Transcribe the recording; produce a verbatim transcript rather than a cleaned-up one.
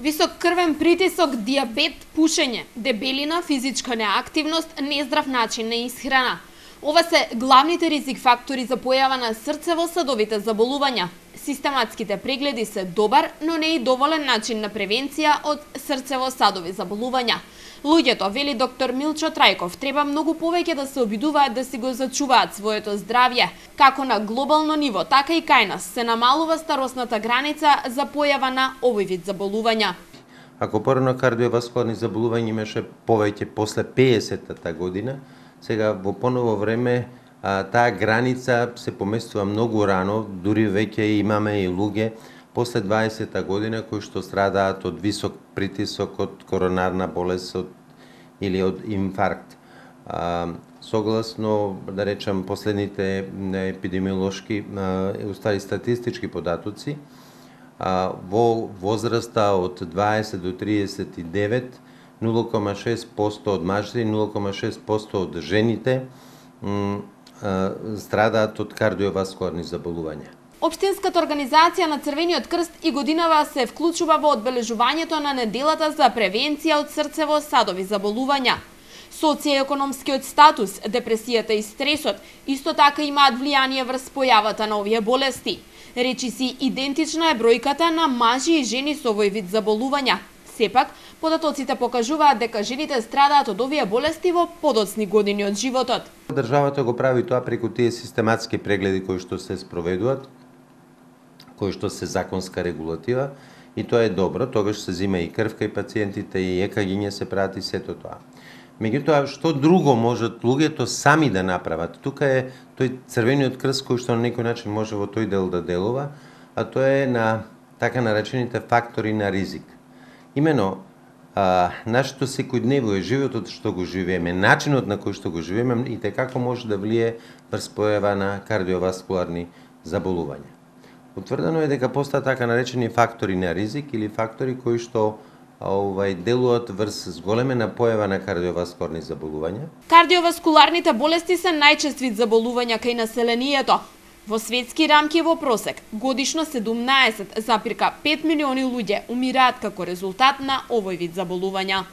Висок крвен притисок, диабет, пушење, дебелина, физичка неактивност, нездрав начин на исхрана. Ова се главните ризик фактори за појава на срцево-садовите заболувања. Систематските прегледи се добар, но не и доволен начин на превенција од срцево-садови заболувања. Луѓето, вели доктор Милчо Трајков, треба многу повеќе да се обидуваат да си го зачуваат своето здравје. Како на глобално ниво, така и кај нас се намалува старосната граница за појава на овој вид заболувања. Ако порано кардиоваскуларни заболувања имаше повеќе после пеесеттата година, сега во поново време а, таа граница се поместува многу рано, дури веќе имаме и луѓе после дваесетта година кои што страдаат од висок притисок, од коронарна болест од, или од инфаркт. А, согласно, да речам, последните епидемиолошки, а, устари статистички податоци, а, во возраста од дваесет до триесет и девет, нула кома шест проценти од мажите и нула кома шест проценти од жените страдаат од кардиоваскуларни заболувања. Општинската организација на Црвениот крст и годинава се вклучува во одбележувањето на неделата за превенција од срцево-садови заболувања. Социјекономскиот статус, депресијата и стресот исто така имаат влијание врз појавата на овие болести. Речиси идентична е бројката на мажи и жени со овој вид заболувања. Сепак, податоците покажуваат дека жените страдаат од овие болести во подоцни години од животот. Државата го прави тоа преку тие систематски прегледи кои што се спроведуваат, кои што се законска регулатива, и тоа е добро, тогаш се зима и крвка и пациентите, и екагиња се прават и сето тоа. Меѓутоа, што друго можат луѓето сами да направат? Тука е тој Црвениот крст кој што на некој начин може во тој дел да делува, а тоа е на така наречените фактори на ризик. Имено, а, нашето секојдневно е животот што го живееме, начинот на кој што го живееме и како може да влие врз појава на кардиоваскуларни заболувања. Утврдено е дека постојат така наречени фактори на ризик или фактори кои што овај делуваат врз зголемена појава на кардиоваскуларни заболувања. Кардиоваскуларните болести се најчест вид заболувања кај населението. Во светски рамки во просек, годишно седумнаесет запирка пет милиони луѓе умираат како резултат на овој вид заболувања.